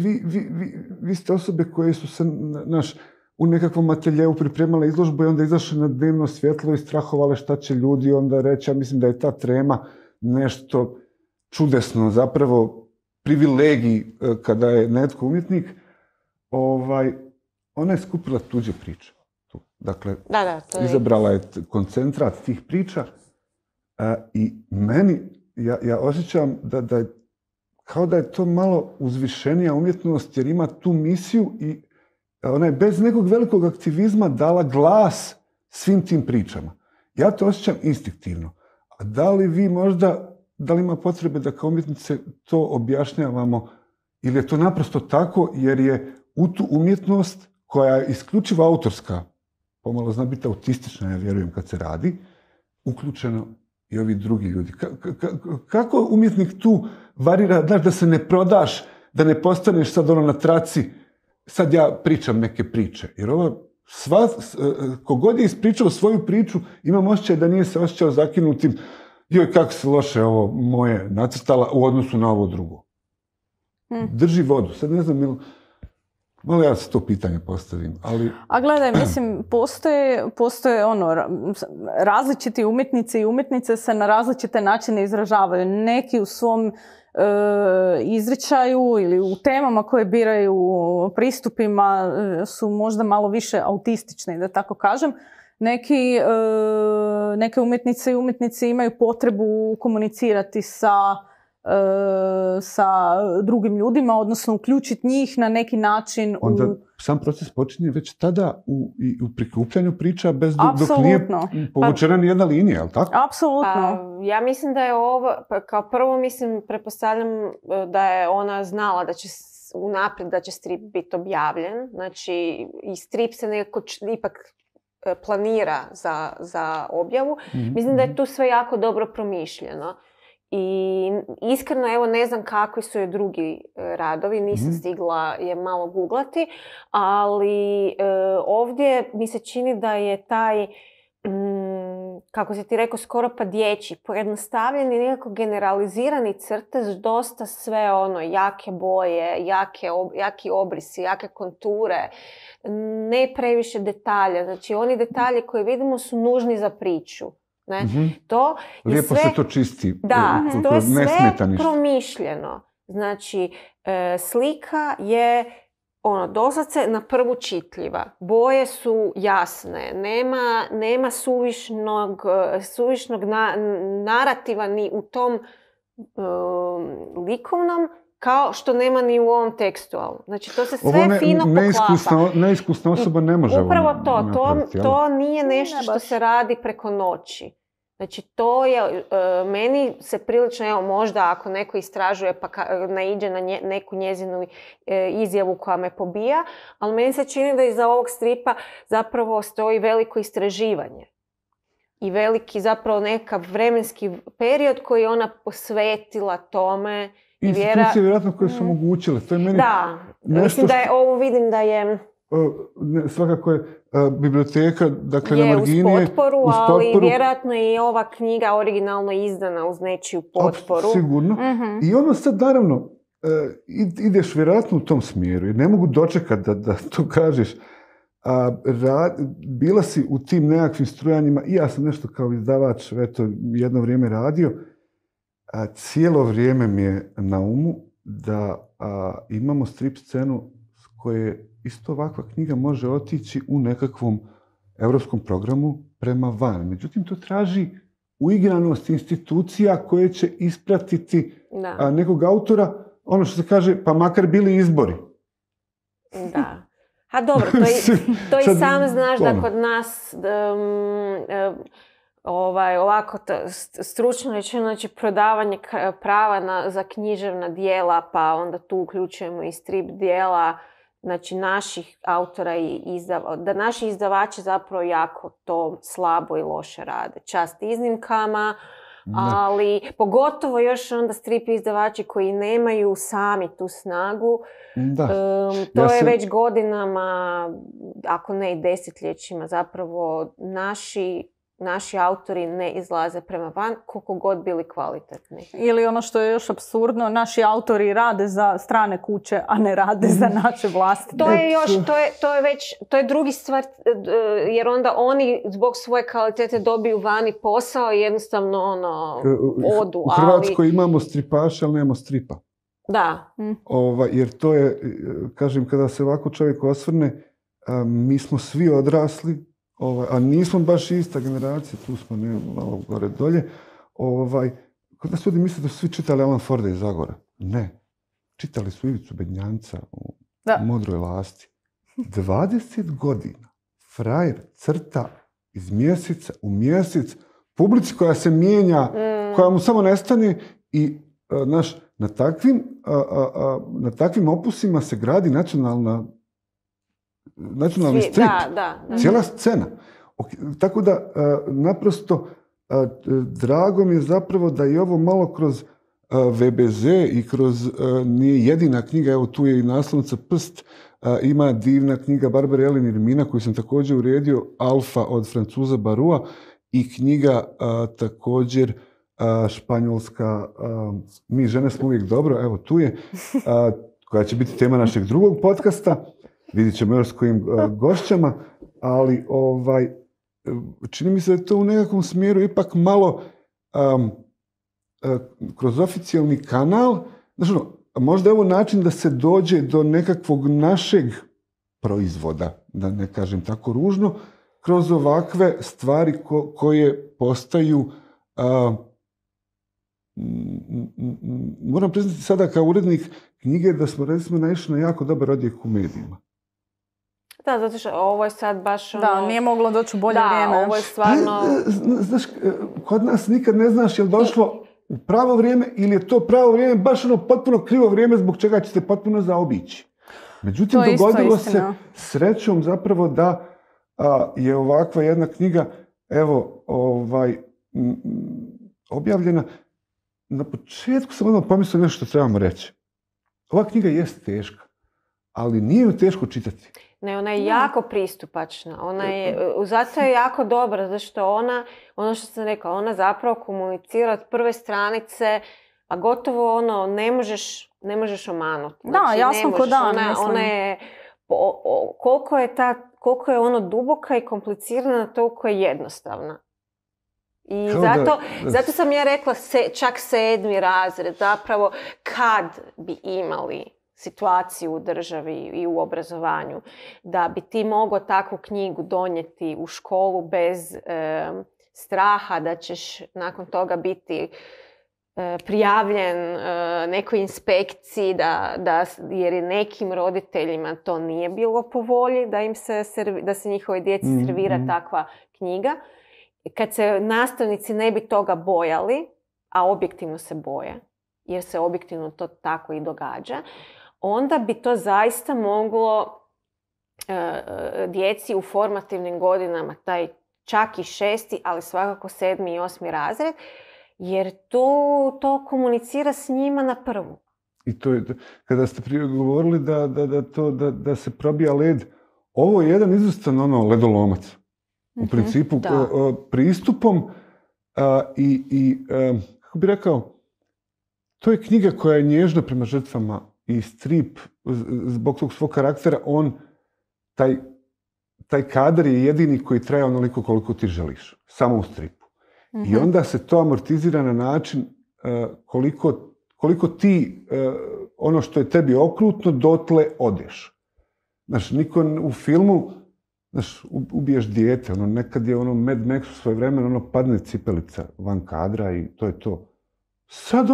vi ste osobe koje su se u nekakvom ateljeu pripremale izložbu i onda izašle na dnevno svjetlo i strahovale šta će ljudi onda reći. Ja mislim da je ta trema nešto čudesno, zapravo privilegij kada je netko umjetnik. Ona je skupila tuđe priče. Dakle, izabrala je koncentrat tih priča i meni, ja osjećam da je kao da je to malo uzvišenija umjetnost jer ima tu misiju i ona je bez nekog velikog aktivizma dala glas svim tim pričama. Ja to osjećam instinktivno. A da li vi možda, da li ima potrebe da kao umjetnice to objašnjavamo ili je to naprosto tako jer je u tu umjetnost koja je isključivo autorska, pomalo zna biti autistična, ja vjerujem kad se radi, uključeno i ovi drugi ljudi. Kako umjetnik tu varira, da se ne prodaš, da ne postaneš sad na traci, sad ja pričam neke priče. Jer kogod je ispričao svoju priču, imam osjećaj da nije se osjećao zakinutim, joj kako se loše ovo moje nacrtala u odnosu na ovo drugo. Drži vodu. Sad ne znam, malo ja se to pitanje postavim, ali... A gledaj, mislim, postoje različiti umjetnici i umjetnice se na različite načine izražavaju. Neki u svom izričaju ili u temama koje biraju, pristupima su možda malo više autistični, da tako kažem. Neke umjetnice i umjetnici imaju potrebu komunicirati sa drugim ljudima, odnosno uključiti njih na neki način. Onda sam proces počinje već tada u prikupljanju priča dok nije povučena nijedna linija, je li tako? Apsolutno. Ja mislim da je ovo, kao prvo pretpostavljam da je ona znala da će unaprijed da će strip biti objavljen. Znači, i strip se nekako ipak planira za objavu. Mislim da je tu sve jako dobro promišljeno. I iskreno, evo, ne znam kakvi su i drugi radovi, nisam stigla je malo googlati, ali ovdje mi se čini da je taj, kako si ti rekao, skoro pa dječji, pojednostavljeni, nekako generalizirani crtež, dosta sve ono, jake boje, jaki obrisi, jake konture, ne previše detalja. Znači, oni detalji koje vidimo su nužni za priču. Ne? To je lijepo sve, se to čisti. Da, to je sve ništa. promišljeno. Znači, slika je doslovce na prvu čitljiva. Boje su jasne. Nema suvišnog narativa ni u tom likovnom, kao što nema ni u ovom tekstualnom. Znači, to se sve fino poklapa. Neiskusna osoba ne može upravo to nije nešto što se radi preko noći. Znači, to je, meni se prilično, evo, možda ako neko istražuje pa naiđe na neku njezinu izjavu koja me pobija, ali meni se čini da iza ovog stripa zapravo stoji veliko istraživanje. I veliki zapravo nekav vremenski period koji je ona posvetila tome. Institucije vjerojatno koje su omogućile. To je meni mislim da je ovo, vidim da je... Svakako je biblioteka, dakle, na margini uz potporu, ali vjerojatno je i ova knjiga originalno izdana uz nečiju potporu. Sigurno. I ono sad, naravno, ideš vjerojatno u tom smjeru, jer ne mogu dočekati da to kažeš. Bila si u tim nekakvim strujanjima, i ja sam nešto kao izdavač jedno vrijeme radio. Cijelo vrijeme mi je na umu da imamo strip scenu s koje isto ovakva knjiga može otići u nekakvom europskom programu prema van. Međutim, to traži uigranost institucija koje će ispratiti nekog autora, ono što se kaže, pa makar bili izbori. Da. A dobro, to i sam znaš da kod nas ovako stručno rečeno, znači prodavanje prava za književna djela, pa onda tu uključujemo i strip djela, znači naših autora i da naši izdavači zapravo jako to slabo i loše rade. Čast iznimkama, ali pogotovo još onda strip izdavači koji nemaju sami tu snagu. To je već godinama, ako ne i desetljećima, zapravo naši autori ne izlaze prema van, koliko god bili kvalitetni. Ili ono što je još apsurdno, naši autori rade za strane kuće, a ne rade za naše vlastite. To je drugi stvar, jer onda oni zbog svoje kvalitete dobiju vani posao i jednostavno odu. U Hrvatskoj imamo stripaše, ali nemamo stripa. Da. Jer to je, kažem, kada se ovako čovjek osvrne, mi smo svi odrasli, a nismo baš ista generacija, tu smo malo gore dolje. Kod nas ljudi misle da su svi čitali Alan Forda iz Zagora. Ne. Čitali su Ivicu Bednjanca u Modroj lasti. 20 godina frajer crta iz mjeseca u mjesec, publici koja se mijenja, koja mu samo nestane i na takvim opusima se gradi nacionalni strip. Cijela scena. Tako da, naprosto, drago mi je zapravo da i ovo malo kroz VBZ i kroz, nije jedina knjiga, evo tu je i naslovnica Prst, ima divna knjiga Barbare Elin i Mina koju sam također uredio, Alfa od Francuza Barua, i knjiga također španjolska Mi žene smo uvijek dobro, evo tu je, koja će biti tema našeg drugog podcasta. Vidit ćemo još s kojim gošćama, ali čini mi se da je to u nekakvom smjeru ipak malo kroz oficijalni kanal. Znači, možda je ovo način da se dođe do nekakvog našeg proizvoda, da ne kažem tako ružno, kroz ovakve stvari koje postaju, moram priznati sada kao urednik knjige da smo recimo naišli na jako dobar odjek u medijima. Da, zato što ovo je sad baš Da, nije moglo doći u bolje vrijeme. Da, ovo je stvarno... Znaš, kod nas nikad ne znaš je li došlo u pravo vrijeme ili je to pravo vrijeme baš potpuno krivo vrijeme zbog čega će se potpuno zaobići. Međutim, dogodilo se srećom zapravo da je ovakva jedna knjiga, evo, objavljena. Na početku sam odmah pomislio nešto što trebamo reći. Ova knjiga jest teška, ali nije ju teško čitati. Ne, ona je jako pristupačna. Zato je jako dobra, zato što ono što sam rekla, ona zapravo komunicira od prve stranice, a gotovo ne možeš omanuti. Da, Znači, jasno ko dan. Ona je, koliko je ono duboka i komplicirana, toliko je jednostavna. I zato sam ja rekla čak 7. razred, zapravo kad bi imali situaciju u državi i u obrazovanju, da bi ti mogao takvu knjigu donijeti u školu bez straha da ćeš nakon toga biti prijavljen nekoj inspekciji, jer i nekim roditeljima to nije bilo po volji da se njihovoj djeci servira takva knjiga. Kad se nastavnici ne bi toga bojali, a objektivno se boje, jer se objektivno to tako i događa, onda bi to zaista moglo djeci u formativnim godinama, taj čak i 6., ali svakako 7. i 8. razred, jer to komunicira s njima na prvu. I to je, kada ste prije govorili da se probija led, ovo je jedan izvrstan ledolomac. U principu, pristupom i kako bi rekao, to je knjiga koja je nježna prema žrtvama i strip, zbog tog svog karaktera, taj kadar je jedini koji traje onoliko koliko ti želiš, samo u stripu. I onda se to amortizira na način koliko ti, ono što je tebi okrutno, dotle odeš. Znaš, niko u filmu, znaš, ubiješ dijete, nekad je Mad Max u svoje vremena, padne cipelica van kadra i to je to. Sad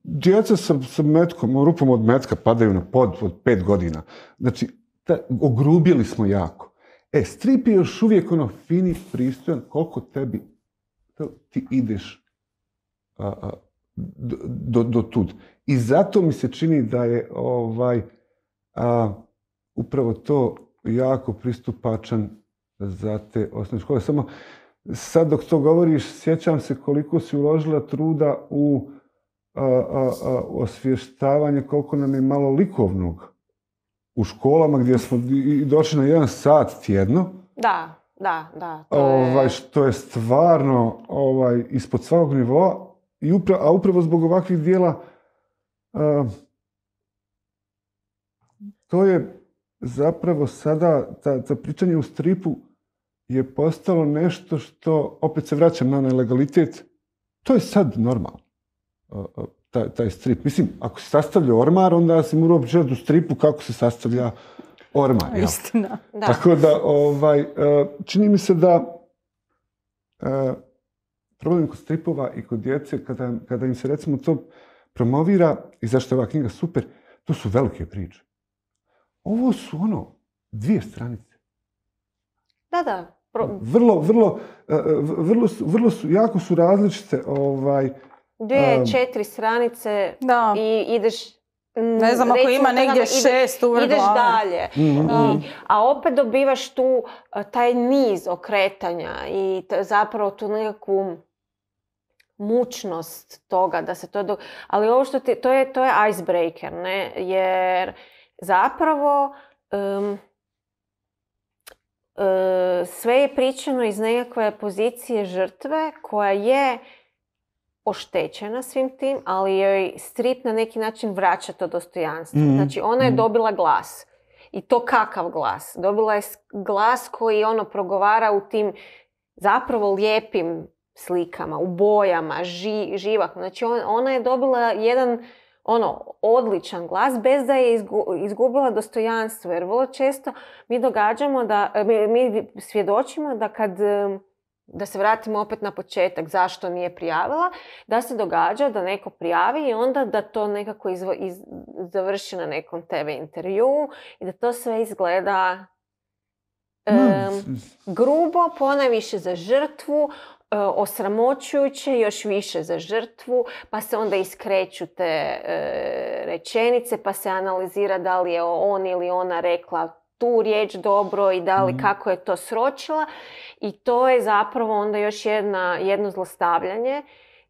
djeca sa metkom, rupom od metka padaju na pod od 5 godina. Znači, ogrubili smo jako. Strip je još uvijek fini, pristojan, koliko ti ideš do tud. I zato mi se čini da je upravo to jako pristupačan za te osnovne škole. Samo sad dok to govoriš, sjećam se koliko si uložila truda u osvještavanje, koliko nam je malo likovnog u školama gdje smo došli na 1 sat tjedno. Da. Što je stvarno ispod svakog nivoa, a upravo zbog ovakvih dijela to je zapravo sada, ta pričanje u stripu je postalo nešto što, opet se vraćam na onaj legalitet, to je sad normalno, taj strip. Mislim, ako se sastavlja ormar, onda si morao pričati u stripu kako se sastavlja ormar. Istina. Da. Tako da, čini mi se da problem kod stripova i kod djece, kada im se recimo to promovira, i zašto je ova knjiga super, to su velike priče. Ovo su 2 stranice. Da. Vrlo su, jako su različite. 2-4 stranice i ideš... Ne znam, ako ima negdje 6 uvrgla. Ideš dalje. A opet dobivaš tu taj niz okretanja i zapravo tu nekakvu mučnost toga da se to... Ali ovo što to je icebreaker, ne? Jer zapravo sve je pričano iz nekakve pozicije žrtve koja je oštećena svim tim, ali joj strip na neki način vraća to dostojanstvo. Znači, ona je dobila glas. I to kakav glas? Dobila je glas koji progovara u tim zapravo lijepim slikama, u bojama, živahno. Znači, ona je dobila jedan odličan glas bez da je izgubila dostojanstvo. Jer vrlo često mi svjedočimo da da se vratimo opet na početak zašto nije prijavila, da se događa da neko prijavi i onda da to nekako završi na nekom TV intervju i da to sve izgleda grubo, ponajviše za žrtvu, osramoćujuće, još više za žrtvu, pa se onda iskreću te rečenice, pa se analizira da li je on ili ona rekla tu riječ dobro i da li kako je to sročila. I to je zapravo onda još jedno zlostavljanje,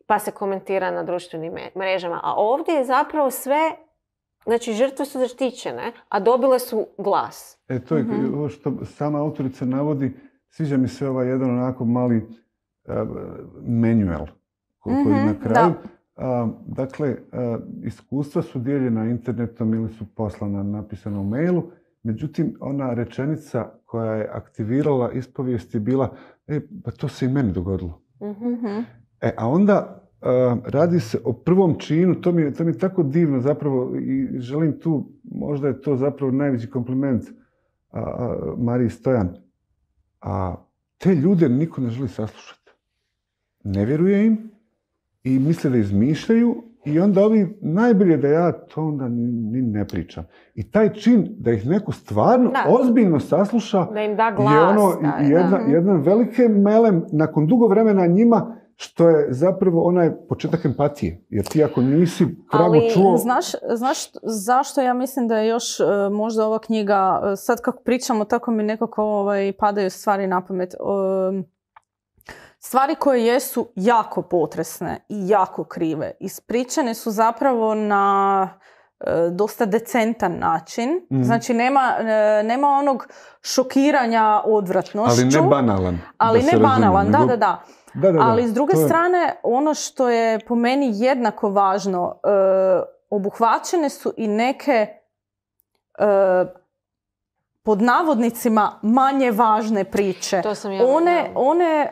pa se komentira na društvenim mrežama. A ovdje je zapravo sve, znači žrtve su zaštićene, a dobile su glas. To je ovo što sama autorica navodi, sviđa mi se ovaj jedan onako mali manual koji na kraju. Dakle, iskustva su dijeljena internetom ili su poslana napisana u mailu, međutim, ona rečenica koja je aktivirala ispovijest je bila, pa to se i meni dogodilo. A onda radi se o prvom činu, to mi je tako divno zapravo i želim tu, možda je to zapravo najveći kompliment Mariji Stojan. Te ljude niko ne želi saslušati. Ne vjeruje im i misle da izmišljaju i onda ovi najbolje da ja to onda ni ne pričam. I taj čin da ih neko stvarno ozbiljno sasluša da im da glas, je ono jedan velike melem nakon dugo vremena njima, što je zapravo onaj početak empatije. Jer ti ako nisi pravo čuo... Znaš zašto ja mislim da je još možda ova knjiga, sad kako pričamo, tako mi nekako padaju stvari na pamet. Stvari koje jesu jako potresne i jako krive, ispričane su zapravo na dosta decentan način. Znači nema onog šokiranja odvratnošću. Ali ne banalan. Ali ne banalan, da. Ali s druge strane, ono što je po meni jednako važno, obuhvaćene su i neke pod navodnicima manje važne priče. To sam one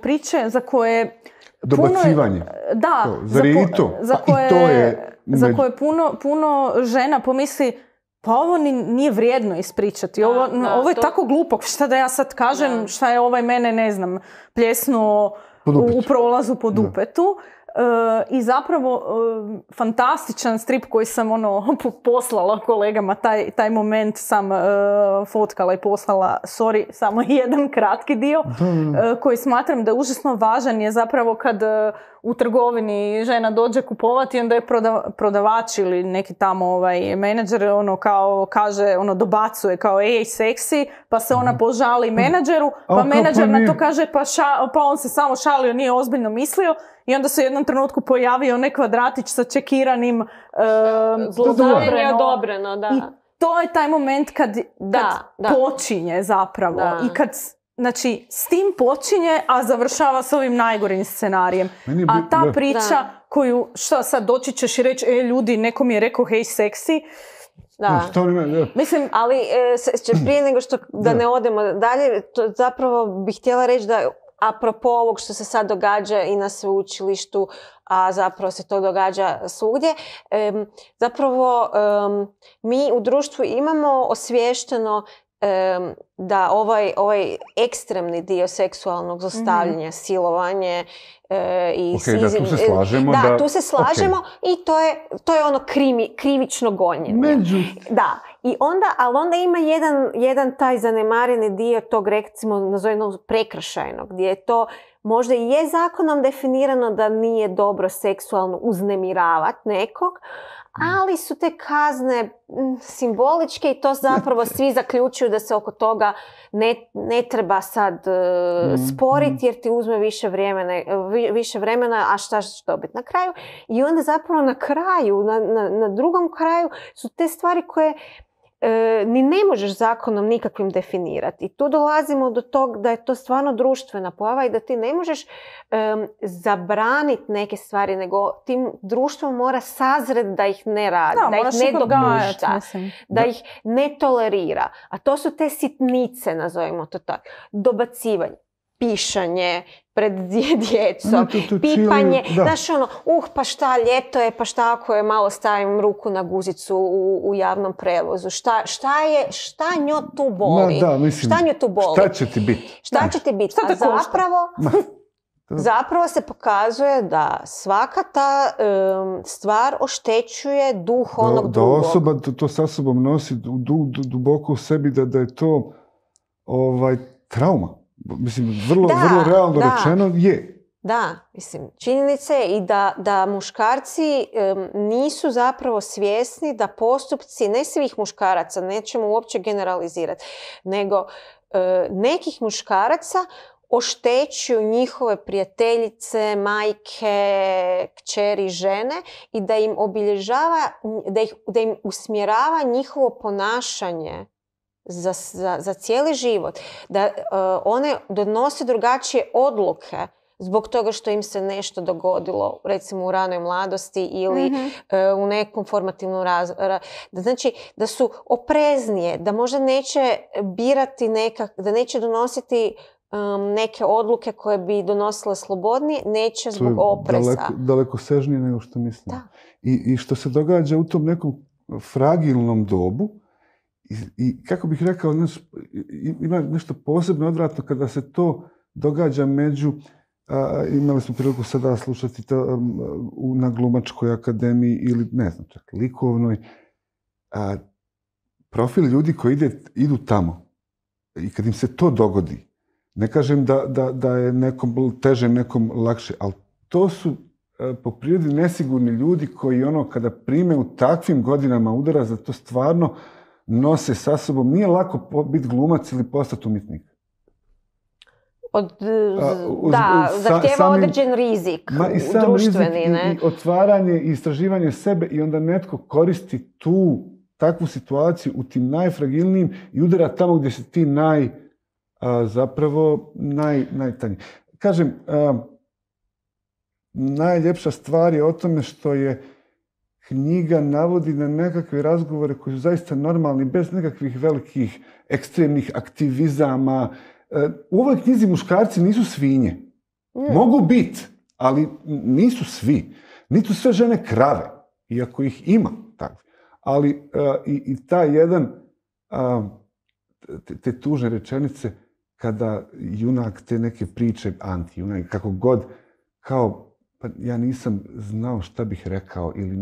priče za koje... Dobacivanje. Za koje puno žena pomisli, pa ovo nije vrijedno ispričati. Ovo je tako glupo. Šta da ja sad kažem, šta je ovaj mene, ne znam, pljesnuo u prolazu po dupetu. I zapravo fantastičan strip koji sam poslala kolegama, taj moment sam fotkala i poslala, samo jedan kratki dio, koji smatram da je užasno važan, je zapravo kad u trgovini žena dođe kupovati, onda je prodavač ili neki tamo menadžer kaže, dobacuje kao ej, seksi, pa se ona požali menadžeru, pa menadžer na to kaže pa on se samo šalio, nije ozbiljno mislio. I onda se u jednom trenutku pojavio onaj kvadratić sa čekiranim zlostavljanje odobreno, da. I to je taj moment kad počinje zapravo. I kad, znači, s tim počinje, a završava s ovim najgorim scenarijem. A ta priča koju, šta sad, doći ćeš i reći, ljudi, neko mi je rekao, hej, seksi. Mislim, ali prije nego što da ne odemo dalje, zapravo bih htjela reći da apropo ovog što se sad događa i na sveučilištu, a zapravo se to događa svugdje, zapravo mi u društvu imamo osviješteno da ovaj ekstremni dio seksualnog zlostavljanja, silovanje i tu se slažemo. Tu se slažemo i to je ono krivično gonjenje. I onda, ali onda ima jedan taj zanemareni dio tog, recimo, nazovimo prekršajnog, gdje je to možda i je zakonom definirano da nije dobro seksualno uznemiravati nekog, ali su te kazne simboličke i to zapravo svi zaključuju da se oko toga ne treba sad sporiti jer ti uzme više vremena, a šta ćeš dobiti na kraju. I onda zapravo na kraju, na drugom kraju su te stvari koje ni ne možeš zakonom nikakvim definirati. I tu dolazimo do tog da je to stvarno društvena pojava i da ti ne možeš zabraniti neke stvari, nego tim društvom mora sazret da ih ne radi, da ih ne dopušta, da ih ne tolerira. A to su te sitnice, nazovimo to tako. Dobacivanje, pišanje pred djecom, pipanje, znaš pa šta, ljeto je, pa šta ako je malo stavim ruku na guzicu u javnom prevozu, šta njo tu boli? Šta njo tu boli? Šta će ti biti? Šta će ti biti? A zapravo se pokazuje da svaka ta stvar oštećuje duh onog drugog. Da osoba to sa sobom nosi duboko u sebi, da je to trauma. Mislim, vrlo realno rečeno je. Da, mislim, činjenica je i da muškarci nisu zapravo svjesni da postupci, ne svih muškaraca, nećemo uopće generalizirati, nego nekih muškaraca oštećuju njihove prijateljice, majke, kćeri, žene i da im obilježava, da im usmjerava njihovo ponašanje za cijeli život. Da one donose drugačije odluke zbog toga što im se nešto dogodilo, recimo u ranoj mladosti ili u nekom formativnom znači, da su opreznije, da možda neće birati da neće donositi neke odluke koje bi donosile slobodnije, neće zbog opreza. Daleko sežnije nego što mislim. Da. I što se događa u tom nekom fragilnom dobu, i kako bih rekao, ima nešto posebno odvratno kada se to događa među, imali smo priliku sada slušati na Glumačkoj akademiji ili ne znam, čak likovnoj, profil ljudi koji idu tamo i kad im se to dogodi, ne kažem da je nekom teže, nekom lakše, ali to su po prirodi nesigurni ljudi koji kada prime u takvim godinama udara, za to stvarno nose sa sobom. Nije lako biti glumac ili postati umjetnik. Zahtijeva određen rizik, društveni. I otvaranje i istraživanje sebe i onda netko koristi takvu situaciju u tim najfragilnijim i udara tamo gdje si ti najtanji. Kažem, najljepša stvar je o tome što je knjiga navodi na nekakve razgovore koji su zaista normalni, bez nekakvih velikih ekstremnih aktivizama. U ovoj knjizi muškarci nisu svinje. Mogu biti, ali nisu svi. Nisu sve žene krave, iako ih ima takve. Ali i taj jedan, te tužne rečenice, kada junak te neke priče, anti-junak, kako god, kao, pa ja nisam znao šta bih rekao, ili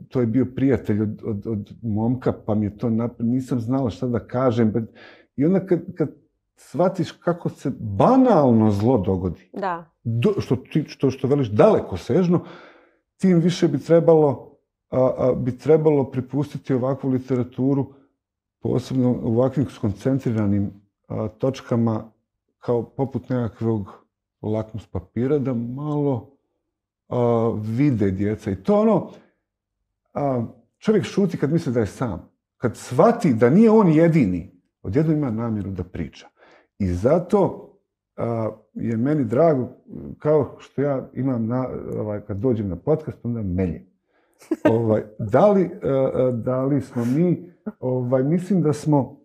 to je bio prijatelj od momka, pa mi je to nisam znala šta da kažem. I onda kad shvatiš kako se banalno zlo dogodi, što veliš daleko sežno, tim više bi trebalo prepustiti ovakvu literaturu, posebno u ovakvim skoncentriranim točkama, kao poput nekakvog lakmus papira, da malo vide djeca. I to čovjek šuti kad misli da je sam. Kad shvati da nije on jedini, odjednom ima namjeru da priča. I zato je meni drago, kao što ja imam kad dođem na podcast, onda meljem. Da li smo mi, mislim da smo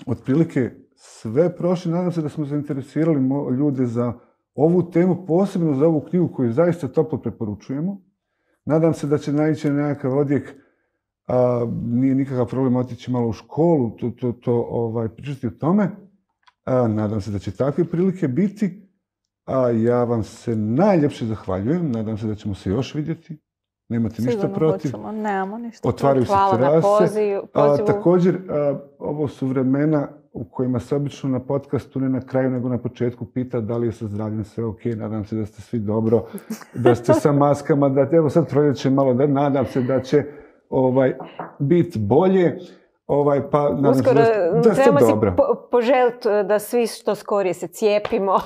otprilike sve prošli, nadam se da smo zainteresirali ljude za ovu temu, posebno za ovu knjigu koju zaista toplo preporučujemo. Nadam se da će naići na nekakav odjek, nije nikakav problem otići malo u školu, pričati o tome. Nadam se da će takve prilike biti. Ja vam se najljepše zahvaljujem. Nadam se da ćemo se još vidjeti. Nemate ništa protiv. Sigurno hoćemo, nemamo ništa. Otvaraju se terase. Također, ovo su vremena u kojima se obično na podcastu, ne na kraju nego na početku, pita da li je sa zdravljem sve ok. Nadam se da ste svi dobro, da ste sa maskama, evo sad proljeće malo, nadam se da će biti bolje. Pa nadam se da ste dobro. Trebamo si poželiti da svi što skorije se cijepimo.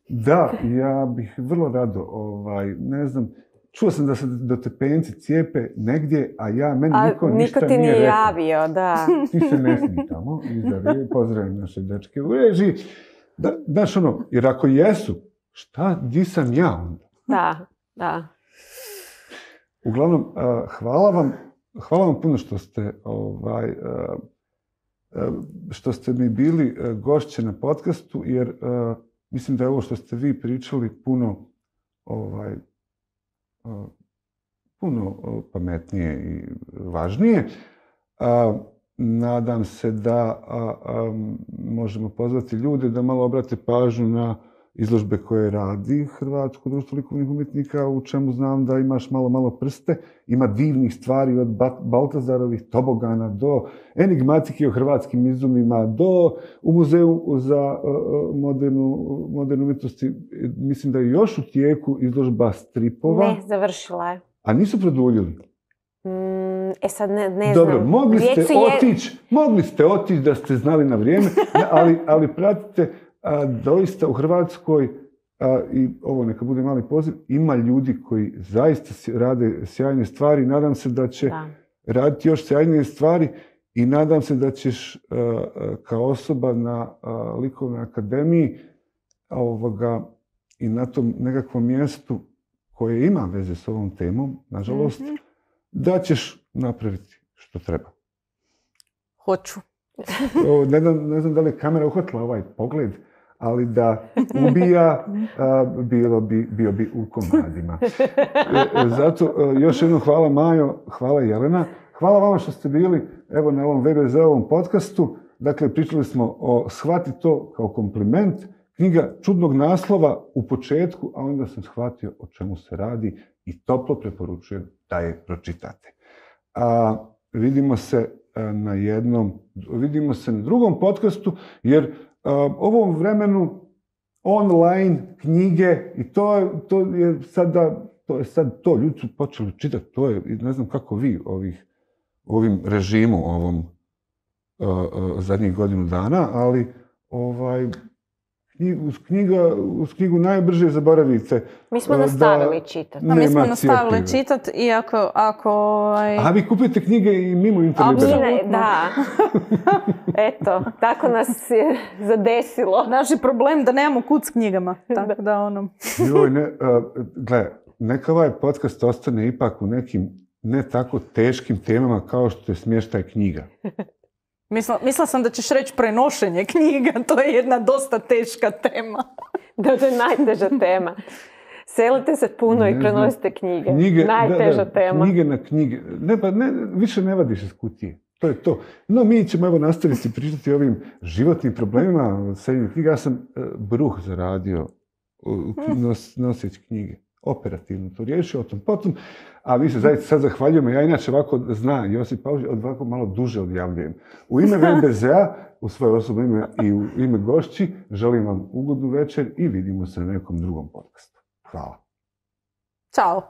Da, ja bih vrlo rado, ne znam, čuo sam da se dotepenci cijepe negdje, a meni niko ništa nije rekao. Niko ti nije javio, da. Ti se ne smi tamo, pozdravim naše dečke u režiji. Znaš jer ako jesu, di sam ja onda? Da. Uglavnom, hvala vam puno što ste mi bili gošće na podcastu, jer mislim da je ovo što ste vi pričali puno pametnije i važnije. Nadam se da možemo pozvati ljude da malo obrate pažnju na izložbe koje radi Hrvatsko društvo likovnih umjetnika, u čemu znam da imaš malo prste. Ima divnih stvari od Baltazarovih tobogana do enigmatike o hrvatskim izumima, do u muzeju za modernu umjetnosti. Mislim da je još u tijeku izložba stripova. Ne, završila je. A nisu produljili? Sad ne znam. Dobro, mogli ste otići da ste znali na vrijeme, ali pratite, doista u Hrvatskoj, i ovo neka bude mali poziv, ima ljudi koji zaista rade sjajne stvari. Nadam se da će raditi još sjajnije stvari i nadam se da ćeš kao osoba na Likovnoj akademiji i na tom nekakvom mjestu koje ima veze s ovom temom, nažalost, da ćeš napraviti što treba. Hoću. Ne znam da li je kamera uhvatila ovaj pogled, ali da ubija, bio bi u komadima. Zato još jednom hvala Majo, hvala Jelena. Hvala vama što ste bili na ovom VBZ-ovom podcastu. Dakle, pričali smo o Shvati to kao kompliment. Knjiga čudnog naslova u početku, a onda sam shvatio o čemu se radi i toplo preporučujem da je pročitate. Vidimo se na drugom podcastu, jer ovom vremenu online knjige i to je sad to, ljudi su počeli čitati, to je, ne znam kako vi ovim režimu zadnjih godinu dana, ali uz knjigu najbrže zaboravite. Mi smo nastavili čitati. Mi smo nastavili čitati, iako A vi kupite knjige i mimo interneta? Da. Eto, tako nas je zadesilo. Naš je problem da nemamo kud s knjigama. Tako da Gle, neka ovaj podcast ostane ipak u nekim ne tako teškim temama kao što je smještaj knjiga. Mislila sam da ćeš reći prenošenje knjiga, to je jedna dosta teška tema. Da, to je najteža tema. Selite se puno i prenosite knjige. Najteža tema. Knjige na knjige. Više ne vadiš iz kutije. To je to. No, mi ćemo nastaviti pričati o ovim životnim problemima seljenju knjiga. Ja sam bruh zaradio noseći knjige. Operativno to riješio, o tom potom. A vi se zaista sad zahvaljujemo. Ja inače ovako Josip Paužić, ovako malo duže odjavljujem. U ime VBZ-a, u svoje osobno ime i u ime gošći, želim vam ugodnu večer i vidimo se na nekom drugom podcastu. Hvala. Ćao.